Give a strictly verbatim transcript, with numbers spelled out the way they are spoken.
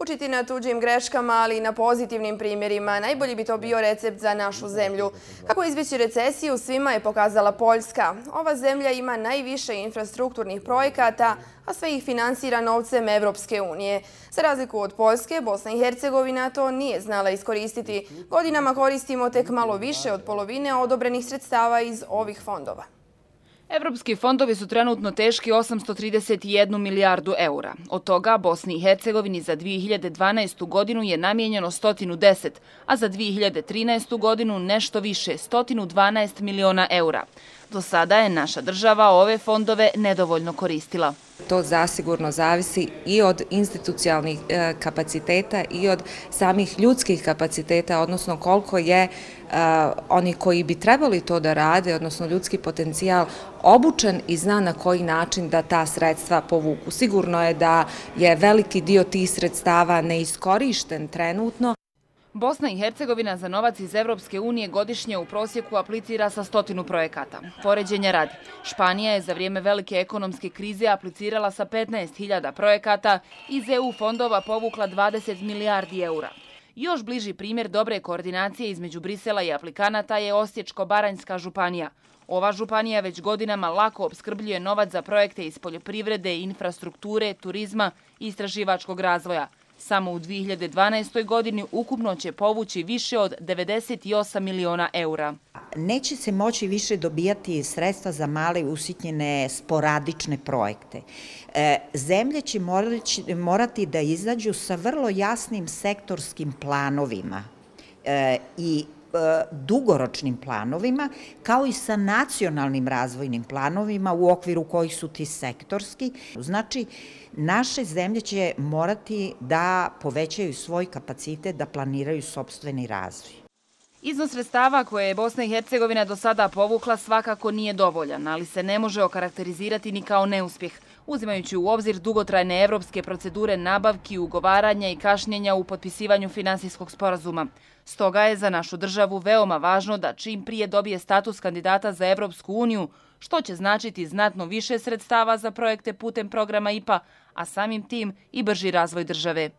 Učiti na tuđim greškama, ali i na pozitivnim primjerima, najbolji bi to bio recept za našu zemlju. Kako izbjeći recesiju, svima je pokazala Poljska. Ova zemlja ima najviše infrastrukturnih projekata, a sve ih finansira novcem Evropske unije. Za razliku od Poljske, Bosna i Hercegovina to nije znala iskoristiti. Godinama koristimo tek malo više od polovine odobrenih sredstava iz ovih fondova. Evropski fondovi su trenutno teški osamsto trideset jednu milijardu eura. Od toga Bosni i Hercegovini za dvije hiljade dvanaestu godinu je namijenjeno sto deset, a za dvije hiljade trinaestu godinu nešto više, sto dvanaest miliona eura. Do sada je naša država ove fondove nedovoljno koristila. To zasigurno zavisi i od institucionalnih kapaciteta i od samih ljudskih kapaciteta, odnosno koliko je oni koji bi trebali to da rade, odnosno ljudski potencijal, obučen i zna na koji način da ta sredstva povuku. Sigurno je da je veliki dio tih sredstava neiskorišten trenutno. Bosna i Hercegovina za novac iz Evropske unije godišnje u prosjeku aplicira sa stotinu projekata. Poređenja radi, Španija je za vrijeme velike ekonomske krize aplicirala sa petnaest hiljada projekata, iz E U fondova povukla dvadeset milijardi eura. Još bliži primjer dobre koordinacije između Brisela i aplikanata je Osječko-baranjska županija. Ova županija već godinama lako opskrbljuje novac za projekte iz poljoprivrede, infrastrukture, turizma i istraživačkog razvoja. Samo u dvije hiljade dvanaestoj godini ukupno će povući više od devedeset osam miliona eura. Neće se moći više dobijati sredstva za male usitnjene sporadične projekte. Zemlje će morati da izađu sa vrlo jasnim sektorskim planovima i dugoročnim planovima, kao i sa nacionalnim razvojnim planovima u okviru kojih su ti sektorski. Znači, naše zemlje će morati da povećaju svoj kapacitet, da planiraju sopstveni razvoj. Iznos sredstava koje je Bosna i Hercegovina do sada povukla svakako nije dovoljan, ali se ne može okarakterizirati ni kao neuspjeh, uzimajući u obzir dugotrajne evropske procedure nabavki, ugovaranja i kašnjenja u potpisivanju finansijskog sporazuma. Stoga je za našu državu veoma važno da čim prije dobije status kandidata za Evropsku uniju, što će značiti znatno više sredstava za projekte putem programa I P A, a samim tim i brži razvoj države.